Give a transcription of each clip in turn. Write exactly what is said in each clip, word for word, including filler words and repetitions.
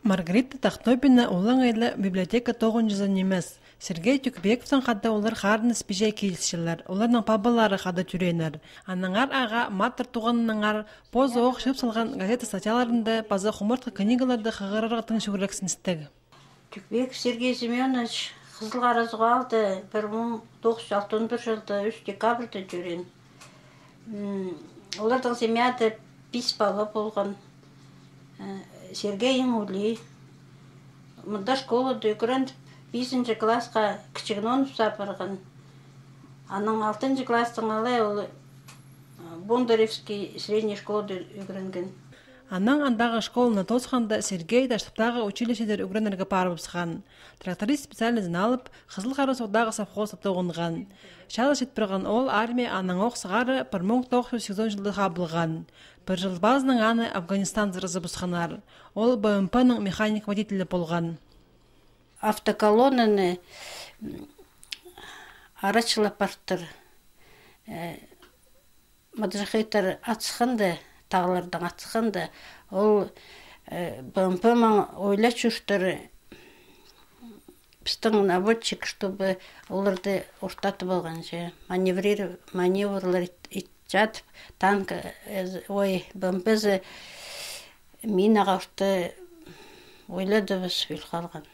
Маргарита Тахтобина олаңай ла библиотека тоғынҷызы нимес. Сергей Тюкбековтаң хада олар харыныс-пиҷе килісчелер, оларның пабалары хада тӧрееннер. Аннаңар ағаа матыр туғанынаңар позы ох чыып салған газета статьяларында паза хумартхы книгаларда хығырарға тың чӱгӱрексіністіг. Тюкбеков Сергей Семёнович Хызыл Харасуғ аалда пір муң тоғыс чӱс алтон пір чылда ӱс декабрьда тӧреен. М, оларның семьяда пис пала полған. Э, Сергей иң улии. Мында школада ӱгреніп, пизінҷі классха Кічіг Нонов сап парған. Анаң алтынҷы класстаң алай ол, э, Бондаревский средний школада ӱгренген. Анаң андағы школаны тоосханда Сергей Таштыптағы училищеде ӱгренерге парыбысхан. Тракторист специальнозын алып, Хызыл Харасуғдағы совхозта тоғынған. Чал чит парған ол армия анаң ох сығара пір муң тоғыс чӱс сигізон чылда хабылған. Пір чыл пазынаң аны Афганистанзар ызыбысханнар. Ол Б М П-ның механик-водителі полған. Автоколоннаны, м, арачылап партыр. Э, маджахеттер атысханда, тағлардаң атысханда, ол, э, Б М П-ме ойла чӧртір, пістің наводчик, чтобы оларды ортатып алғанҷа, маневрир-, маневрлар ит-, ит-, чатып, танк, э, з-, ой, Б М П-зі минаға орта ойладыбыс, ӧл халған.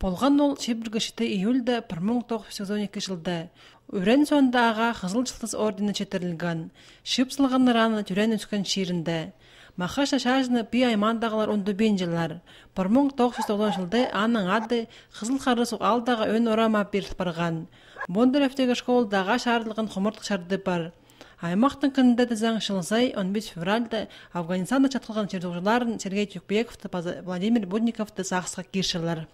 Полған ол чибіргі читі июльда пір муң тоғыс чӱс сигізон ікі чылда. Ӱрен соонда ағаа Хызыл Чылтыс ордені читірілген. Чыып салғаннар аны тӧреен-ӧскен чирінде. Махачы чаачыны пии аймаандағылар ундубинчалар. Пір муң тоғыс чӱс тоғызон чылда аның ады Хызыл Харасуғ аалдағы ӧӧн орама пиріл парған. Бондаревтегі школада ағаа чарыдылған хумартхы чарды пар. Аймахтың кінінде тізең, чыл сай он пис февральда Афганистанда чатхалған чир-суғҷыларын Сергей Тюкбековты паза Владимир Будниковты сағысха кирчелер.